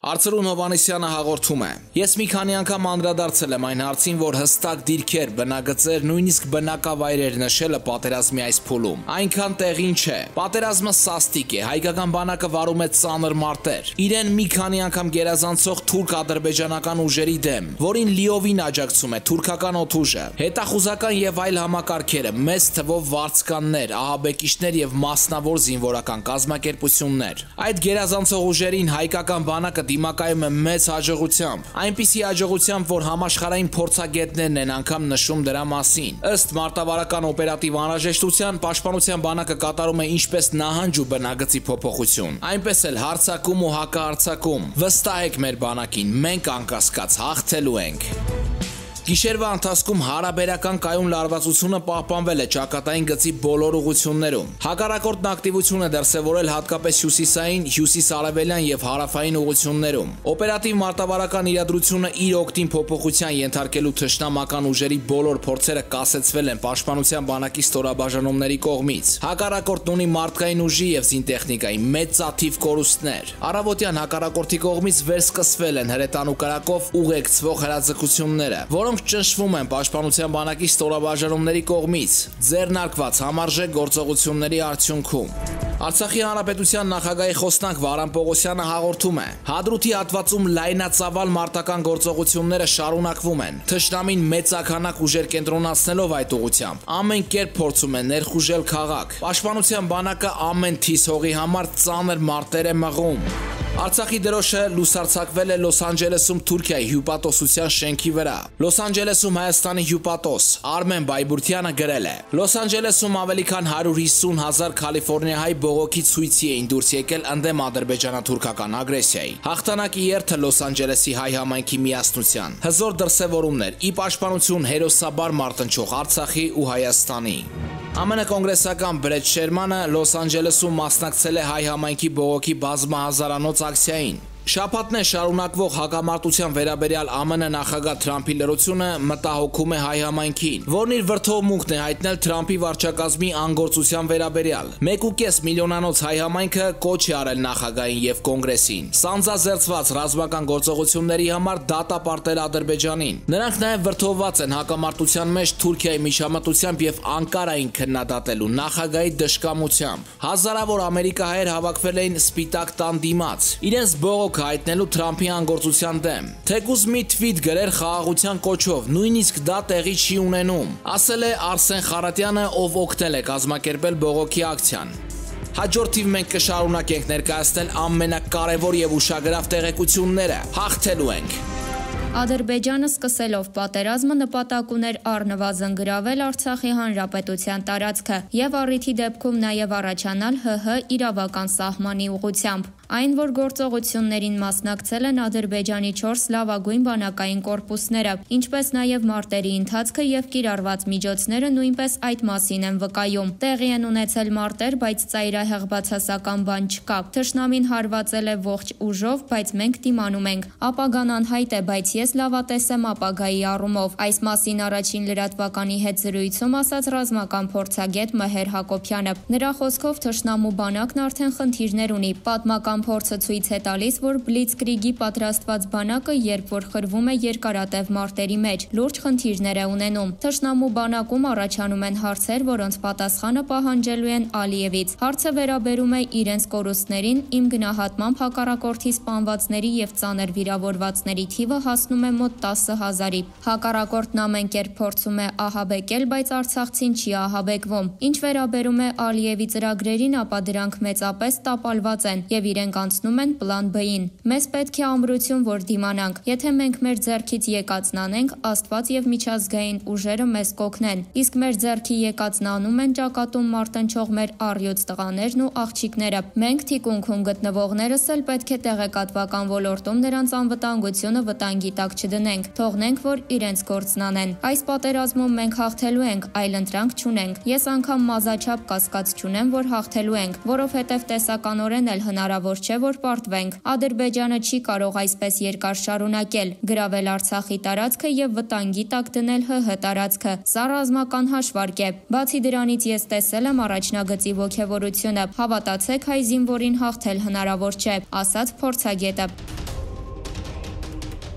Արծրուն Հովանեսյանը հաղորդում է. Ես մի քանի անգամ անդրադարձել եմ այն հարցին, որ հստակ դիրքեր, բնագծեր, նույնիսկ բնակավայրեր նշելը պատերազմի այս փուլում այնքան տեղին չէ։ Պատերազմը սաստիկ է, հայկական բանակը վարում է ծանր մարտեր։ Իրեն մի քանի անգամ գերազանցող թուրք-ադրբեջանական ուժերի դեմ, որին լիովին աջակցում է թուրքական օդուժը, հետախուզական եւ այլ համակարգերը, մեծ թվով վարձկաններ, ահաբեկիչներ եւ մասնավոր զինվորական կազմակերպություններ։ Այդ գերազանցող ուժերին հայկական բանակը դիմակայում է մեծ հաջողությամբ, այնպիսի հաջողությամբ, որ համաշխարհային փորձագետներն են անգամ նշում դրա մասին։ Ըստ մարտավարական օպերատիվ անհրաժեշտության, պաշտպանության բանակը կատարում է ինչպես նահանջ ու բնագծի փոփոխություն, այնպես էլ հարձակում ու հակահարձակում։ Վստահեք մեր բանակին, մենք անկասկած հաղթելու ենք։ Գիշերվա ընթացքում հարաբերական կայուն լարվածությունը պահպանվել է ճակատային գծի բոլոր ուղություններում։ Հակառակորդն ակտիվություն է դրսևորել հատկապես հյուսիսային, հյուսիս-արևելյան եւ հարավային ուղություններում։ Օպերատիվ մարտավարական իրադրությունը իր օգտին փոփոխության ենթարկելու թշնամական ուժերի բոլոր փորձերը կասեցվել են պաշտպանության բանակի ստորաբաժանումների կողմից։ Հակառակորդն ունի մարդկային ուժի եւ զինտեխնիկայի մեծ ծաթիվ կորուստներ։ Առավոտյան հակառակորդի կողմից վերսկսվել են հրետանու կրակով ուղեկցվող հրաձգությունները, որոնք ճնշվում են պաշտպանության բանակի ստորաբաժանումների կողմից ձեռնարկված համարժեք գործողությունների արդյունքում։ Արցախի հանրապետության նախագահի խոսնակ Վարան Պողոսյանը հաղորդում է. Հադրութի հատվածում լայնածավալ մարտական գործողությունները շարունակվում են։ Թշնամին մեծաքանակ ուժեր կենտրոնացնելով այդ ուղությամբ ամեն կերպ փորձում է ներխուժել քաղաք։ Պաշտպանության բանակը ամեն թիս հողի համար ծանր մարտեր է մղում։ Արցախի դրոշը լուսարձակվել է Լոս Անջելեսում Թուրքիայի հյուպատոսության շենքի վրա։ Լոս Անջելեսում Հայաստանի հյուպատոս Արմեն Բայբուրդյանը գրել է. Լոս Անջելեսում ավելի քան 150,000 կալիֆոռնիահայ բողոքի ցույցի էին դուրս եկել ընդդեմ ադրբեջանա-թուրքական ագրեսիայի։ Հաղթանակի երթը Լոս Անջելեսի հայ համայնքի միասնության։ Հզոր դրսևորումներ՝ ի պաշտպանություն հերոսաբար մարտնչող Արցախի ու Հայաստանի։ ԱՄՆ կոնգրեսական Բրեդ Շերմանը Լոս Անջելեսում մասնակցել է հայ համայնքի բողոքի բազմահազարանոց ակցիային։ Շաբաթներ շարունակվող հակամարտության վերաբերյալ ԱՄՆ նախագահ Թրամփի լրությունը մտահոգում է հայ համայնքին, որն իր վրդովմունքն է հայտնել Թրամփի վարչակազմի անգործության վերաբերյալ։ 1.5 միլիոնանոց հայ համայնքը կոչ է արել նախագահին եւ կոնգրեսին սանձազերծված ռազմական գործողությունների համար դատապարտել Ադրբեջանին։ Նրանք նաեւ վրդովված են հակամարտության մեջ Թուրքիայի միջամտությամբ եւ Անկարային քննադատելու նախագահի դժկամությամբ։ Հազարավոր ամերիկահայեր հավաքվել էին Սպիտակ տան դիմաց, իրենց բողոք հայտնելու Թրամփի անգործության դեմ։ Թեկուզ մի թվիթ գրեր խաղաղության կոչով, նույնիսկ դա տեղի չի ունենում, ասել է Արսեն Խարատյանը, ով օգնել է կազմակերպել բողոքի ակցիան։ Հաջորդ թիվ մենք կշարունակենք ներկայացնել ամենակարևոր եւ ուշագրավ տեղեկությունները։ Հաղթելու ենք։ Ադրբեջանը սկսելով պատերազմը նպատակ ուներ առնվազն գրավել Արցախի հանրապետության տարածքը եւ առիթի դեպքում նաեւ առաջանալ ՀՀ իրավական սահմանի ուղղությամբ։ Այն, որ գործողություններին մասնակցել են Ադրբեջանի 4 լավագույն բանակային կորպուսները, ինչպես նաեւ մարտերի ընթացքը եւ կիրառված միջոցները նույնպես այդ մասին են վկայում։ Տեղի են ունեցել մարտեր, բայց ծայրահեղ բացասական բան չկա։ Թշնամին հարվածել է ողջ ուժով, բայց մենք դիմանում ենք։ Ապագան անհայտ է, բայց ես լավատես եմ ապագայի առումով։ Այս մասին առաջին լրատվականի հետ զրույցում ասաց ռազմական փորձագետ Մհեր Հակոբյանը։ Նրա խոսքով թշնամու բանակն արդեն խնդիրներ ունի։ Պատմական փորձը ցույց է տալիս, որ Բլիցկրիգի պատրաստված բանակը, երբ որ խրվում է երկարատև մարտերի մեջ, լուրջ խնդիրներ է ունենում։ Թշնամու բանակում առաջանում են հարցեր, որոնց պատասխանը պահանջելու են Ալիևից։ Հարցը վերաբերում է իրենց կորուստներին, իմ գնահատմամբ հակառակորդի սպանվածների եւ ծանր վիրավորվածների թիվը հասնում է մոտ 10,000-ի։ Հակառակորդն ամեն կերպ փորձում է ահաբեկել, բայց արցախցին չի ահաբեկվում։ Ինչ վերաբերում է Ալիևի ծրագրերին, ապա դրանք մեծապես տապալված են եւ իրենք անցնում են պլան B-ին։ Մեզ պետք է ամրություն, որ դիմանանք։ Եթե մենք մեր ձեռքից եկածն անենք, Աստված եւ միջազգային ուժերը մեզ կօգնեն։ Իսկ մեր ձեռքի եկածն անում են ճակատում մարտնչող մեր առյուծ տղաներն ու աղջիկները։ Մենք թիկունքում գտնվողներս էլ պետք է տեղեկատվական ոլորտում նրանց անվտանգությունը վտանգի տակ չդնենք, թողնենք, որ իրենց գործն անեն։ Այս պատերազմում մենք հաղթելու ենք, այլ ընտրանք չունենք։ Ես անգամ մազաչափ կասկած չունեմ, որ հաղթելու ենք, որովհետև տեսականորեն էլ հնարավոր չէ, որ պարտվենք։ Ադրբեջանը չի կարող այսպես երկար շարունակել, գրավել Արցախի տարածքը եւ վտանգի տակ դնել ՀՀ տարածքը։ Սա ռազմական հաշվարկ է։ Բացի դրանից ես տեսել եմ առաջնագծի ոգևորությունը։ Հավատացեք, հայ զինվորին հաղթել հնարավոր չէ, ասաց փորձագետը։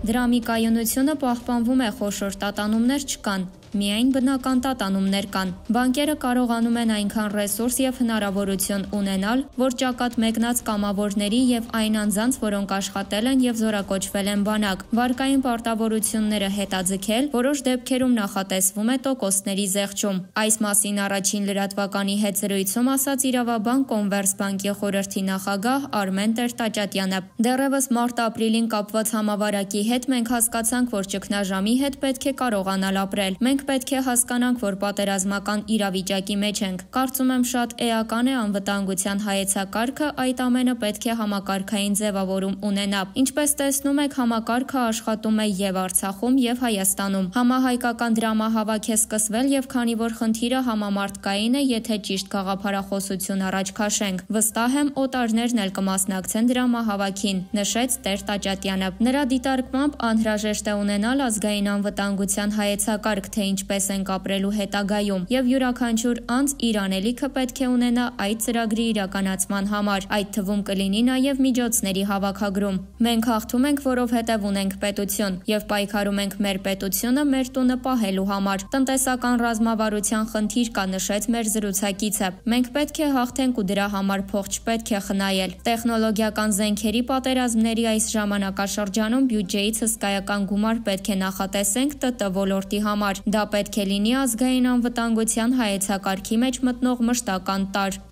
Դրամի կայունությունը պահպանվում է, խոշոր տատանումներ չկան, միայն բնական տատանումներ կան։ Բանկերը կարողանում են այնքան ռեսուրս եւ հնարավորություն ունենալ, որ ճակատ մեկնած կամավորների եւ այն անձանց, որոնք աշխատել են եւ զորակոչվել են բանակ, վարկային պարտավորությունները հետաձգել, որոշ դեպքերում նախատեսվում է տոկոսների զեղչում։ Այս մասին առաջին լրատվականի հետ զրույցում ասաց Իրավաբան Կոնվերսբանկի խորհրդի նախագահ Արմեն Տեր-Տաճատյանը։ Դեռևս մարտ-ապրիլին կապված համավարակի հետ մենք հասկացանք, որ ճգնաժամի հետ պետք է կարողանալ ապրել։ Մենք պետք է հասկանանք, որ պատերազմական իրավիճակի մեջ ենք։ Կարծում եմ շատ էական է անվտանգության հայեցակարգը, այդ ամենը պետք է համակարգային ձևավորում ունենա։ Ինչպես տեսնում եք, համակարգը աշխատում է եւ Արցախում եւ Հայաստանում։ Համահայկական դրամահավաք է սկսվել եւ քանի որ խնդիրը համամարտկային է, եթե ճիշտ գաղափարախոսություն առաջ քաշենք, վստահ եմ օտարներն էլ կմասնակցեն դրամահավաքին, նշեց Տեր-Տաճատյանը։ Նրա դիտարկմամբ անհրաժեշտ է ունենալ ազգային անվտանգության հայեցակարգ, թե ինչպես ենք ապրելու հետագայում, եւ յուրաքանչյուր անձ իր անելիքը պետք է ունենա այդ ծրագրի իրականացման համար, այդ թվում կլինի նաեւ միջոցների հավաքագրում։ Մենք հաղթում ենք, որովհետեւ ունենք պետություն եւ պայքարում ենք մեր պետությունը մեր տունը պահելու համար։ Տնտեսական ռազմավարության խնդիր կա, նշեց մեր զրուցակիցը։ Մենք պետք է հաղթենք ու դրա համար փող չպետք է խնայել։ Տեխնոլոգիական զենքերի պատերազմների այս ժամանակաշրջանում բյուջեից հսկայական գումար պետք է նախատեսենք ՏՏ ոլորտի համար։ Դա պետք է լինի ազգային անվտանգության հայեցակարգի մեջ մտնող մշտական տարր։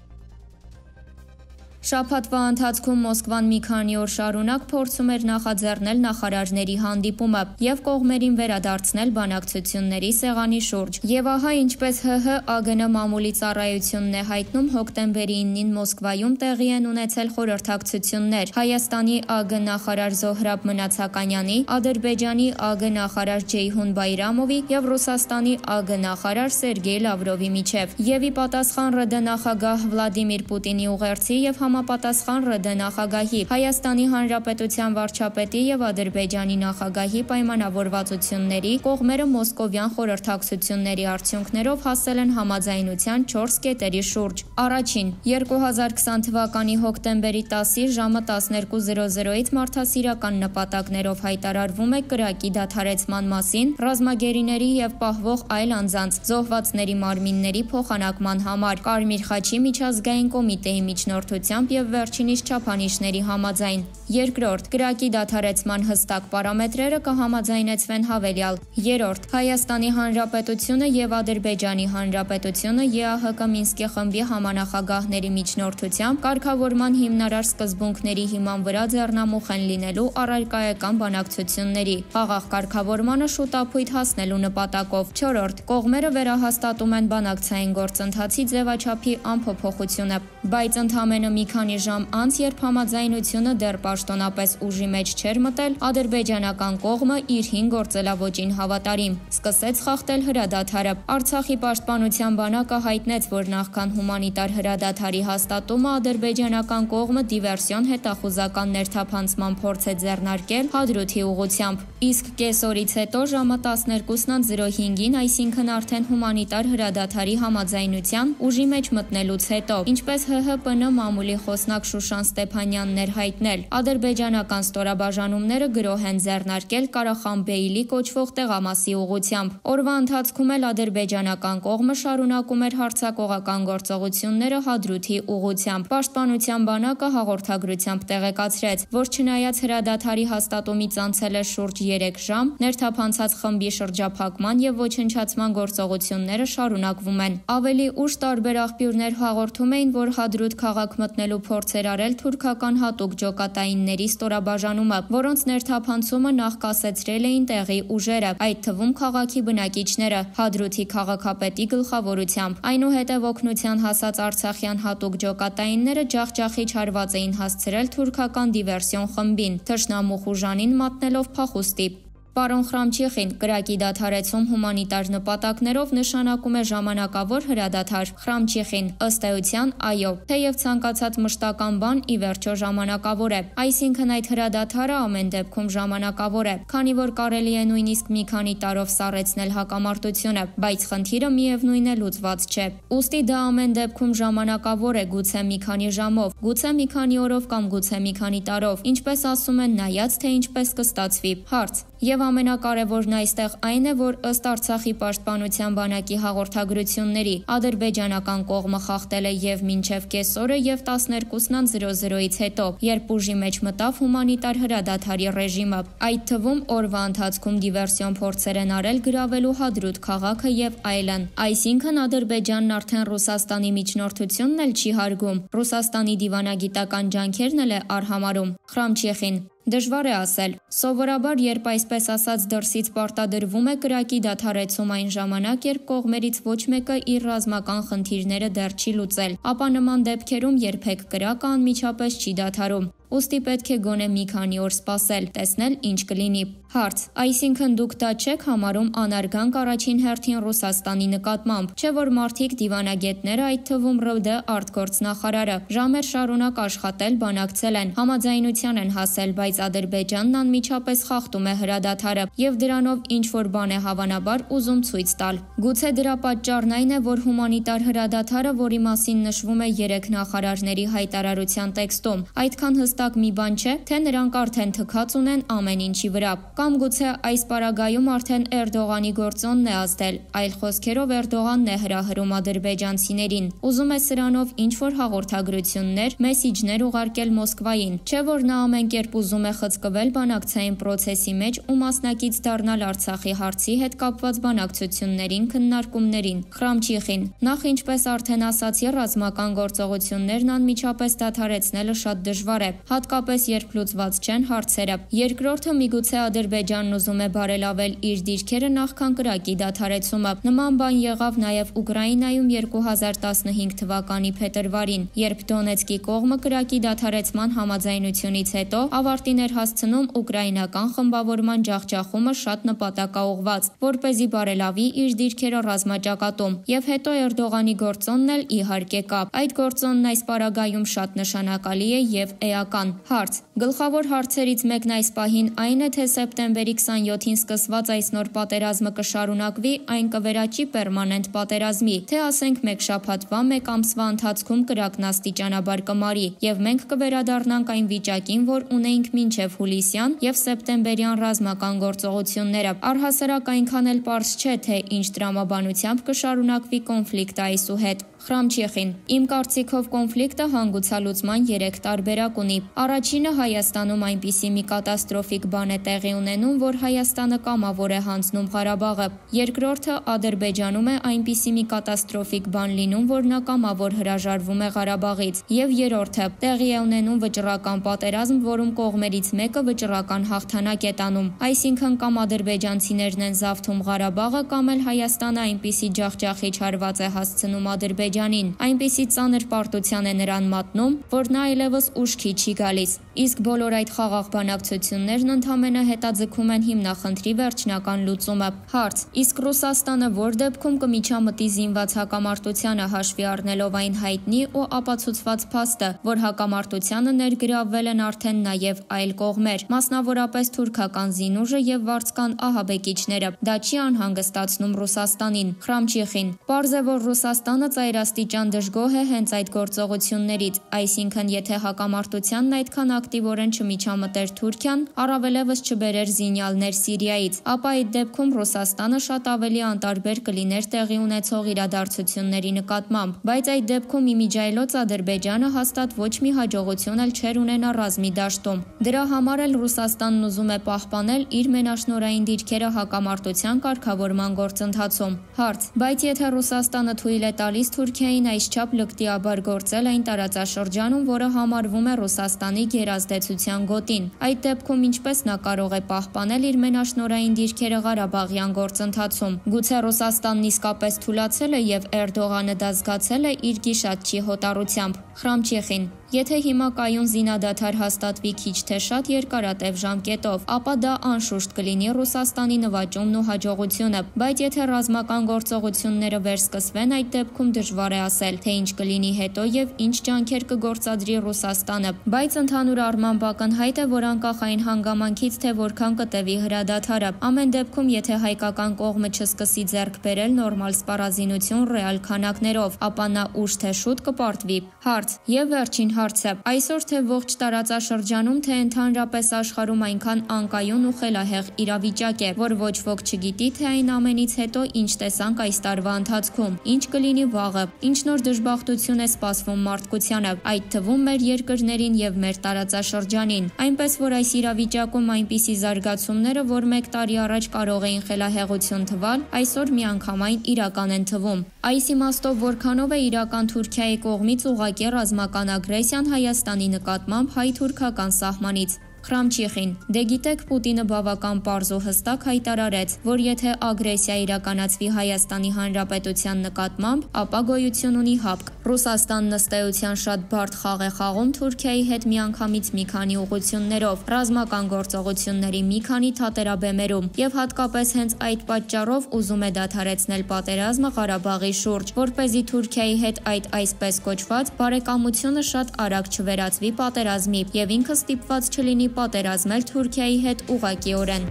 Շաբաթվա ընթացքում Մոսկվան մի քանի օր շարունակ փորձում էր նախաձեռնել նախարարների հանդիպումը եւ կողմերին վերադարձնել բանակցությունների սեղանի շուրջ։ Եվ ահա ինչպես ՀՀ-ԱԳՆ մամուլի ծառայությունն է հայտնում, հոկտեմբերի 9-ին Մոսկվայում տեղի են ունեցել խորհրդակցություններ Հայաստանի ԱԳ նախարար Զոհրաբ Մնացականյանի, Ադրբեջանի ԱԳ նախարար Ջեյհուն Բայրամովի եւ Ռուսաստանի ԱԳ նախարար Սերգեյ Լավրովի միջև։ Եվ ի պատասխան ՌԴ նախագահ Վլադիմիր Պուտինի ուղերձի եւ համապատասխան ՌԴ նախագահի, Հայաստանի Հանրապետության վարչապետի եւ Ադրբեջանի նախագահի պայմանավորվածությունների կողմերը մոսկովյան խորհրդակցությունների արդյունքներով հասել են համաձայնության 4 կետերի շուրջ։ Առաջին, 2020 թվականի հոկտեմբերի 10-ի ժամը 12:00-ից մարդասիրական նպատակներով հայտարարվում է կրակի դադարեցման մասին ռազմագերիների եւ պահվող այլ անձանց զոհվածների մարմինների փոխանակման համար Կարմիր խաչի միջազգային կոմիտեի միջնորդությամբ եւ վերջինիս չափանիշների համաձայն։ Երկրորդ, կրակի դադարեցման հստակ պարամետրերը կհամաձայնեցվեն հավելյալ։ Երրորդ, Հայաստանի Հանրապետությունը եւ Ադրբեջանի Հանրապետությունը ԵԱՀԿ Մինսկի խմբի համանախագահների միջնորդությամբ կարգավորման հիմնարար սկզբունքների հիման վրա ձեռնամուխ են լինելու առարկայական բանակցությունների խաղաղ կարգավորմանը շուտապույտ հասնելու նպատակով։ Չորրորդ, կողմերը վերահաստատում են բանակցային գործընթացի ձևաչափի անփոփոխությունը, բայց ընդամենը մի քանի ժամ անց, երբ համաձայնությունը դեռ պաշտոնապես ուժի մեջ չէր մտել, ադրբեջանական կողմը իր 5 գործելավոճին հավատարիմ սկսեց խախտել հրադադարը։ Արցախի պաշտպանության բանակը հայտնեց, որ նախքան հումանիտար հրադադարի հաստատումը ադրբեջանական կողմը դիվերսիոն հետախուզական ներթափանցման փորձ է ձեռնարկել Հադրութի ուղղությամբ։ Իսկ կեսօրից հետո ժամը 12:05-ին, այսինքն արդեն հումանիտար հրադադարի համաձայնության ուժի մեջ մտնելուց հետո, ինչպես ՀՀՊՆ մամուլի խոսնակ Շուշան Ստեփանյանն էր հայտնել, ադրբեջանական ստորաբաժանումները գրոհ են ձեռնարկել Կարախանբեյլի կոչվող տեղամասի ուղղությամբ։ Օրվա ընթացքում էլ ադրբեջանական կողմը շարունակում էր հարձակողական գործողությունները Հադրութի ուղղությամբ։ Պաշտպանության բանակը հաղորդագրությամբ տեղեկացրեց, որ չնայած հրադադարի հաստատումից անցել է շուրջ 3 ժամ, ներթափանցած խմբի շրջափակման եւ ոչնչացման գործողությունները շարունակվում են։ Ավելի ուշ տարբեր աղբյուրներ հաղորդում էին, որ Հադրութ քաղաք մտնելու փորձ էր արել թուրքական հատուկ ջոկատայինների ստորաբաժանումը, որոնց ներթափանցումը նախ կասեցրել էին տեղի ուժերը, այդ թվում քաղաքի բնակիչները, Հադրութի քաղաքապետի գլխավորությամբ։ Այնուհետև օգնության հասած արցախյան հատուկ ջոկատայինները ջախջախիչ հարված էին հասցրել թուրքական դիվերսիոն խմբին, թշնամու խուժանին մատնելով փախուստի։ Պարոն Խրամչիխին, կրակի դադարեցում հումանիտար նպատակներով նշանակում է ժամանակավոր հրադադար։ Խրամչիխին, ըստ էության, այո, թեև ցանկացած մշտական բան ի վերջո ժամանակավոր է, այսինքն այդ հրադադարը ամեն դեպքում ժամանակավոր է, քանի որ կարելի է նույնիսկ մի քանի տարով սառեցնել հակամարտությունը, բայց խնդիրը միևնույն է լուծված չէ։ Ուստի դա ամեն դեպքում ժամանակավոր է, գուցե մի քանի ժամով, գուցե մի քանի օրով կամ գուցե մի քանի տարով, ինչպես ասում են, նայած թե ինչպես կստացվի։ Հարց. Եվ ամենակարևորն այստեղ այն է, որ ըստ Արցախի պաշտպանության բանակի հաղորդագրությունների ադրբեջանական կողմը խախտել է եւ մինչեւ կեսօրը եւ 12:00-ից հետո, երբ ուժի մեջ մտավ հումանիտար հրադադարի ռեժիմը, այդ թվում օրվա ընթացքում դիվերսիոն փորձեր են արել գրավելու Հադրութ քաղաքը եւ այլն։ Այսինքն Ադրբեջանն արդեն Ռուսաստանի միջնորդությունն էլ չի հարգում, Ռուսաստանի դիվանագիտական ջանքերն էլ է արհամարհում։ Խրամչիխին. Դժվար է ասել։ Սովորաբար, երբ այսպես ասած դրսից պարտադրվում է կրակի դադարեցում այն ժամանակ, երբ կողմերից ոչ մեկը իր ռազմական խնդիրները դեռ չի լուծել, ապա նման դեպքերում երբեք կրակը անմիջապես չի դադարում։ Ուստի պետք է գոնե մի քանի օր սպասել, տեսնել ինչ կլինի։ Հարց. Այսինքն դուք դա չեք համարում անարգանք առաջին հերթին Ռուսաստանի նկատմամբ, չէ՞ որ մարդիկ դիվանագետները, այդ թվում ՌԴ արտգործնախարարը, ժամեր շարունակ աշխատել, բանակցել են, համաձայնության են հասել, բայց Ադրբեջանն անմիջապես խախտում է հրադադարը եւ դրանով ինչ որ բան է հավանաբար ուզում ցույց տալ։ Գուցե դրա պատճառն այն է, որ հումանիտար հրադադարը, որի մասին նշվում է 3 նախարարների հայտարարության տեքստում, այդքան հստակ մի բան չէ, թե նրանք արդեն թքած ունեն ամեն ինչի վրա, կամ գուցե այս պարագայում արդեն Էրդողանի գործոնն է ազդել, այլ խոսքերով Էրդողանն է հրահրում ադրբեջանցիներին, ուզում է սրանով ինչ որ հաղորդագրություններ, մեսիջներ ուղարկել Մոսկվային, չէ՞ որ նա ամեն կերպ ուզում է խցկվել բանակցային պրոցեսի մեջ ու մասնակից դառնալ Արցախի հարցի հետ կապված բանակցություններին, քննարկումներին։ Խրամչիխին. Նախ ինչպես արդեն ասացի, ռազմական գործողություններն անմիջապես դադարեցնելը շատ դժվար է, հատկապես երբ լուծված չեն հարցերը։ Երկրորդը, միգուցե Ադրբեջանն ուզում է բարելավել իր դիրքերը նախքան կրակի դադարեցումը։ Նման բան եղավ նաև Ուկրաինայում 2015 թվականի փետրվարին, երբ Դոնեցկի կողմը կրակի դադարեցման համաձայնությունից հետո ավարտին էր հասցնում ուկրաինական խմբավորման ջախջախումը շատ նպատակաուղղված, որպեսզի բարելավի իր դիրքերը ռազմաճակատում, եւ հետո Էրդողանի գործոնն էլ իհարկե կա։ Այդ գործոնն այս պարագայում շատ նշանակալի է եւ էական։ Հարց. Գլխավոր հարցերից մեկն այս պահին այն է, թե սեպտեմբերի 27-ին սկսված այս նոր պատերազմը կշարունակվի, այն կվերաճի պերմանենտ պատերազմի, թե ասենք մեկ շաբաթվա, մեկ ամսվա ընթացքում կրակն աստիճանաբար կմարի, եւ մենք կվերադառնանք այն վիճակին, որ ունեինք մինչև հուլիսյան եւ սեպտեմբերյան ռազմական գործողությունները։ Առհասարակ այնքան էլ պարզ չէ, թե ինչ տրամաբանությամբ կշարունակվի կոնֆլիկտը այսուհետ։ Խրամչիխին. Իմ կարծիքով կոնֆլիկտը հանգուցալուծման 3 տարբերակ ունի։ Առաջինը Հայաստանում այնպիսի մի կատաստրոֆիկ բան է տեղի ունենում, որ Հայաստանը կամավոր է հանձնում Ղարաբաղը։ Երկրորդը Ադրբեջանում է այնպիսի մի կատաստրոֆիկ բան լինում, որ նա կամավոր հրաժարվում է Ղարաբաղից։ Եվ երրորդը տեղի է ունենում վճռական պատերազմ, որում կողմերից մեկը վճռական հաղթանակ է տանում։ Այսինքն կամ ադրբեջանցիներն են զավթում Ղարաբաղը, կամ էլ Հայաստանը այնպիսի ջախջախիչ հարված է հասցնում Ադրբեջանին, այնպիսի ծանր պարտության է նրան մատնում, որ նա այլևս ուշքի չի գալիս։ Իսկ բոլոր այդ խաղաղ բանակցություններն ընդհանրապես հետաձգում են հիմնախնդրի վերջնական լուծումը։ Հարց. Իսկ Ռուսաստանը որ դեպքում կմիջամտի զինված հակամարտությանը հաշվի առնելով այն հայտնի ու ապացուցված փաստը, որ հակամարտությանը ներգրավվել են արդեն նաև այլ կողմեր, մասնավորապես թուրքական զինուժը եւ վարձկան ահաբեկիչները, դա չի անհանգստացնում Ռուսաստանին։ Խրամչիխին. Պարզ է, որ Ռուսաստանը ծայրաստիճան դժգոհ է հենց այդ գործողություններից, այսինքն եթե հակամարտությանն այդքան ակտիվորեն չմիջամտեր Թուրքիան, առավելևս չբերեր զինյալներ Սիրիայից, ապա այդ դեպքում Ռուսաստանը շատ ավելի անտարբեր կլիներ տեղի ունեցող իրադարձությունների նկատմամբ, բայց այդ դեպքում իմիջիայլոց Ադրբեջանը հաստատ ոչ մի հաջողություն էլ չէր ունենա ռազմի դաշտում։ Դրա համար էլ Ռուսաստանն ուզում է պահպանել իր մենաշնորհային դիրքերը հակամարտության կարգավորման գործընթացում։ Հարց. Բայց եթե Ռուսաստանը թույլ է տալիս Թուրքիային այսչափ լկտիաբար գործել այն տարածաշրջանում, որը համարվում է Ռուսաստանի գերազդեցության գոտին, այդ դեպքում ինչպես նա կարող է պահպանել իր մենաշնորհային դիրքերը Ղարաբաղյան գործընթացում։ Գուցե Ռուսաստանն իսկապես թուլացել է եւ Էրդողանը դա զգացել է իր գիշատչի հոտառությամբ։ Խրամչիխին. Եթե հիմա կայուն զինադադար հաստատվի քիչ թե շատ երկարատև ժամկետով, ապա դա անշուշտ կլինի Ռուսաստանի նվաճումն ու հաջողությունը, բայց եթե ռազմական գործողությունները վերսկսվեն, այդ դեպքում դժվար է ասել, թե ինչ կլինի հետո եւ ինչ ջանքեր կգործադրի Ռուսաստանը, բայց ընդհանուր առմամբ ակնհայտ է, որ անկախ այն հանգամանքից, թե որքան կտևի հրադադարը, ամեն դեպքում, եթե հայկական կողմը չսկսի ձեռք բերել նորմալ սպառազինություն ռեալ քանակներով, ապա նա ուշ թե շուտ կպարտվի։ Հարց. Եվ վերջին հարցը. այսօր թե ողջ տարածաշրջանում, թե ընդհանրապես աշխարհում այնքան անկայուն ու խելահեղ իրավիճակ է, որ ոչ ոք չգիտի, թե այն ամենից հետո ինչ տեսանք այս տարվա ընթացքում, ինչ կլինի վաղը, ինչ նոր դժբախտություն է սպասվում մարդկությանը, այդ թվում մեր երկրներին եւ մեր տարածաշրջանին, այնպես որ այս իրավիճակում այնպիսի զարգացումները, որ 1 տարի առաջ կարող էին խելահեղություն թվալ, այսօր միանգամայն իրական են թվում։ Այս իմաստով որքանով է իրական Թուրքիայի կողմից ուղղակի ռազմական ագրեսիան Հայաստանի նկատմամբ հայ-թուրքական սահմանից։ Խրամչիխին. Դե գիտեք, Պուտինը բավական պարզ ու հստակ հայտարարեց, որ եթե ագրեսիա իրականացվի Հայաստանի Հանրապետության նկատմամբ, ապա գոյություն ունի հապկ։ Ռուսաստանն ըստ էության շատ բարդ խաղ է խաղում Թուրքիայի հետ միանգամից մի քանի ուղղություններով, ռազմական գործողությունների մի քանի թատերաբեմերում, եւ հատկապես հենց այդ պատճառով ուզում է դադարեցնել պատերազմը Ղարաբաղի շուրջ, որպեսզի Թուրքիայի հետ այդ այսպես կոչված բարեկամությունը շատ արագ չվերածվի պատերազմի եւ ինքը ստիպված չլինի պատերազմել Թուրքիայի հետ ուղղակիորեն։